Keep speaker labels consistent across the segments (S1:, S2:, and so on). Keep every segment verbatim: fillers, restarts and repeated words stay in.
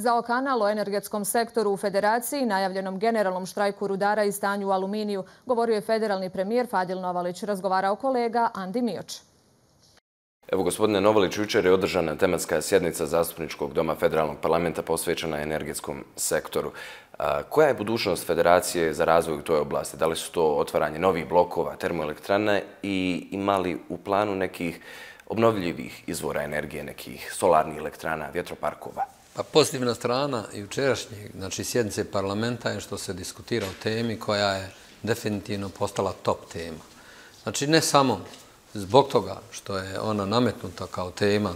S1: Zao kanal o energetskom sektoru u Federaciji, najavljenom generalnom štrajku rudara i stanju u aluminiju, govorio je federalni premijer Fadil Novalić. Razgovarao kolega Andi Mioč.
S2: Evo, gospodine Novalić, jučer je održana tematska sjednica Zastupničkog doma Federalnog parlamenta posvećena energetskom sektoru. Koja je budućnost Federacije za razvoj u toj oblasti? Da li su to otvaranje novih blokova, termoelektrane i ima li u planu nekih obnovljivih izvora energije, nekih solarnih elektrana, vjetroparkova?
S3: Pa pozitivna strana jučerašnje, znači sjednice parlamenta je što se diskutira o temi koja je definitivno postala top tema. Znači ne samo zbog toga što je ona nametnuta kao tema,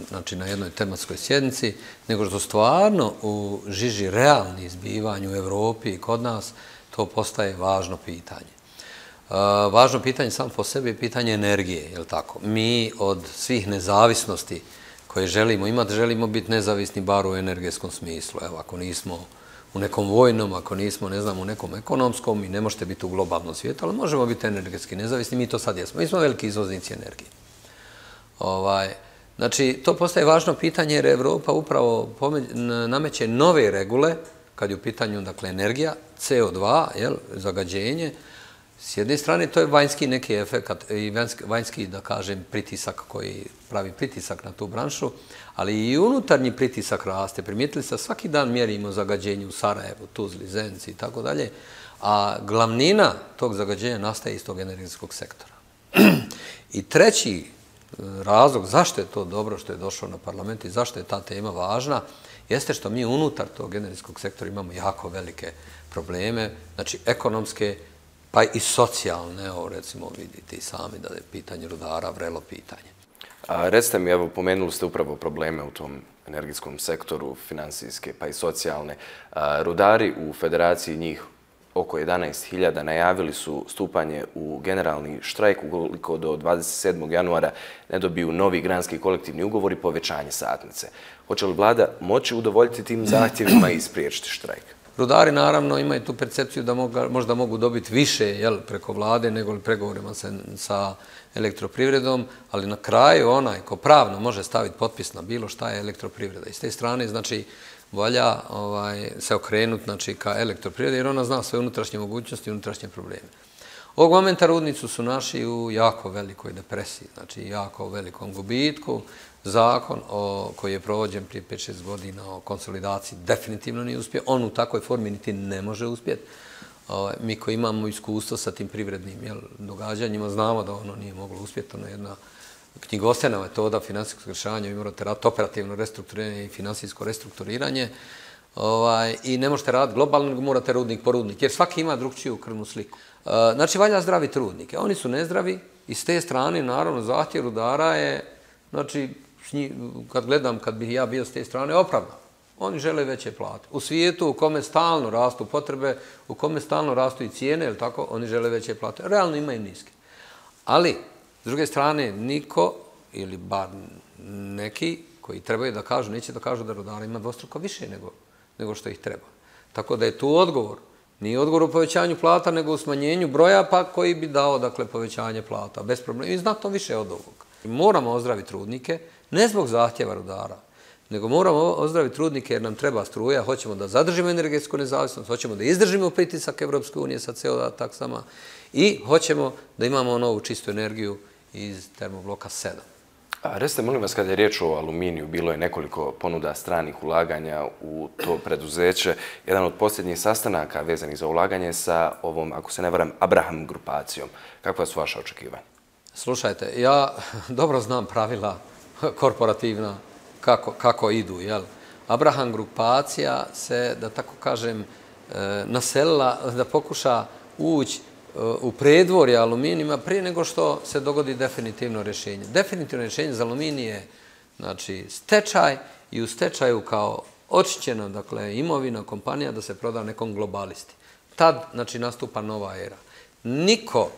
S3: znači na jednoj tematskoj sjednici, nego što stvarno u žiži realnih zbivanja u Evropi i kod nas to postaje važno pitanje. Važno pitanje samo po sebi je pitanje energije, je li tako? Mi od svih nezavisnosti koje želimo imati, želimo biti nezavisni bar u energetskom smislu. Evo, ako nismo u nekom vojnom, ako nismo, ne znam, u nekom ekonomskom i ne možete biti u globalnom svijetu, ali možemo biti energetski nezavisni, mi to sad jesmo. Mi smo veliki izvoznici energije. Ovaj, znači, to postaje važno pitanje jer Evropa upravo nameće nove regule, kad je u pitanju, dakle, energija, C O dva, jel, zagađenje. S jedne strane, to je vanjski neki efekt i vanjski, da kažem, pritisak koji pravi pritisak na tu branšu, ali i unutarnji pritisak raste. Primijetili ste, svaki dan mjerimo zagađenje u Sarajevu, Tuzli, Zenci i tako dalje, a glavnina tog zagađenja nastaje iz tog energetskog sektora. I treći razlog zašto je to dobro što je došlo na parlament i zašto je ta tema važna, jeste što mi unutar tog energetskog sektora imamo jako velike probleme, znači ekonomske, pa i socijalne, evo recimo vidite i sami da je pitanje rudara vrelo pitanje.
S2: A recite mi, evo, pomenuli ste upravo probleme u tom energetskom sektoru, finansijske pa i socijalne. Rudari u Federaciji, njih oko jedanaest hiljada, najavili su stupanje u generalni štrajk ukoliko do dvadeset sedmog januara ne dobiju novi granski kolektivni ugovor i povećanje satnice. Hoće li vlada moći udovoljiti tim zahtjevima i spriječiti štrajk?
S3: Rudari naravno imaju tu percepciju da možda mogu dobiti više preko vlade nego li pregovorima sa elektroprivredom, ali na kraju onaj ko pravno može staviti potpis na bilo šta je elektroprivreda. I s te strane, znači, valja se okrenuti ka elektroprivredi jer ona zna sve unutrašnje mogućnosti i unutrašnje probleme. Ovog momenta rudnicu su naši u jako velikoj depresiji, znači jako velikom gubitku. Zakon koji je provođen prije pet šest godina o konsolidaciji definitivno nije uspio. On u takvoj formi niti ne može uspjeti. Mi koji imamo iskustvo sa tim privrednim događanjima znamo da ono nije moglo uspjeti. Ono je jedna knjigostvena metoda finansijskog rješavanja. Vi morate raditi operativno restrukturiranje i finansijsko restrukturiranje. I ne možete raditi globalno, nego morate rudnik po rudnik, jer svaki ima drugčiju krvnu sliku. Znači, valja zdraviti rudnike. Oni su nezdravi i s te strane, naravno, zahtjev rudara je, znači, kad gledam, kad bih ja bio s te strane, opravdan. Oni žele veće plate. U svijetu u kome stalno rastu potrebe, u kome stalno rastu i cijene, ili tako, oni žele veće plate. Realno imaju niske. Ali, s druge strane, niko, ili bar neki koji trebaju da kažu, neće da kažu da rudara ima dvostruko više nego što ih treba. Tako da je tu odgovor. Nije odgovor u povećanju plata, nego u smanjenju broja, pa koji bi dao, dakle, povećanje plata. Bez problema. I znatno više od ovog. Moramo ozdraviti rudnike, ne zbog zahtjeva rudara, nego moramo ozdraviti rudnike jer nam treba struja, hoćemo da zadržimo energetsku nezavisnost, hoćemo da izdržimo pritisak Evropske unije sa C O dva taksama i hoćemo da imamo novu čistu energiju iz termobloka sedam.
S2: Recite, molim vas, kada je riječ o aluminiju, bilo je nekoliko ponuda stranih ulaganja u to preduzeće. Jedan od posljednjih sastanaka vezanih za ulaganje sa ovom, ako se ne varam, Abraham grupacijom. Kakva su vaša očekivanja?
S3: Slušajte, ja dobro znam pravila korporativna kako idu. Abraham grupacija se, da tako kažem, naselila da pokuša ući u predvorje aluminijima prije nego što se dogodi definitivno rješenje. Definitivno rješenje za aluminij je stečaj i u stečaju kao očišćena imovina kompanija da se proda nekom globalisti. Tad nastupa nova era. Niko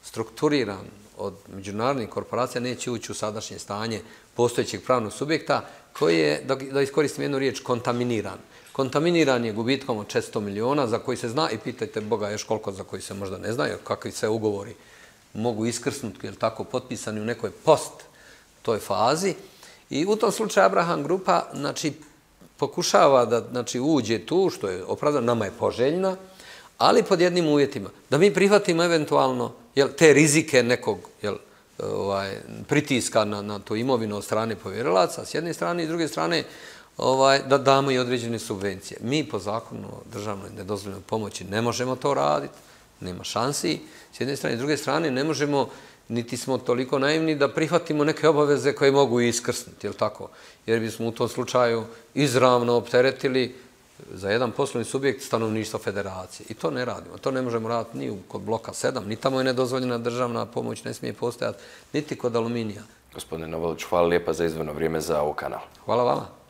S3: strukturiran od međunarodnih korporacija neće ući u sadašnje stanje postojećeg pravnog subjekta koji je, da iskoristim jednu riječ, kontaminiran. Kontaminiran je gubitkom od četiristo miliona za koji se zna i pitajte Boga još koliko za koji se možda ne zna, jer kakvi se ugovori mogu iskrsnuti, jer tako potpisani u nekoj post toj fazi. I u tom slučaju Abraham grupa, znači, pokušava da znači, uđe tu, što je opravdano, nama je poželjna, ali pod jednim uvjetima. Da mi prihvatimo eventualno jel, te rizike nekog jel, ovaj, pritiska na, na tu imovinu od strane povjerilaca, s jedne strane i s druge strane ovaj, da damo i određene subvencije. Mi po zakonu o državnoj nedozvoljenoj pomoći ne možemo to raditi, nema šansi. S jedne strane i s druge strane ne možemo, niti smo toliko naivni da prihvatimo neke obaveze koje mogu iskrsnuti, jel tako? Jer bismo u tom slučaju izravno opteretili za jedan poslovni subjekt stanovništva federacije. I to ne radimo. To ne možemo raditi ni kod bloka sedam, ni tamo je nedozvoljena državna pomoć, ne smije postojati, niti kod aluminija.
S2: Gospodine Novolić, hvala lijepa za izdvojeno vrijeme za ovo kanal.
S3: Hvala vama.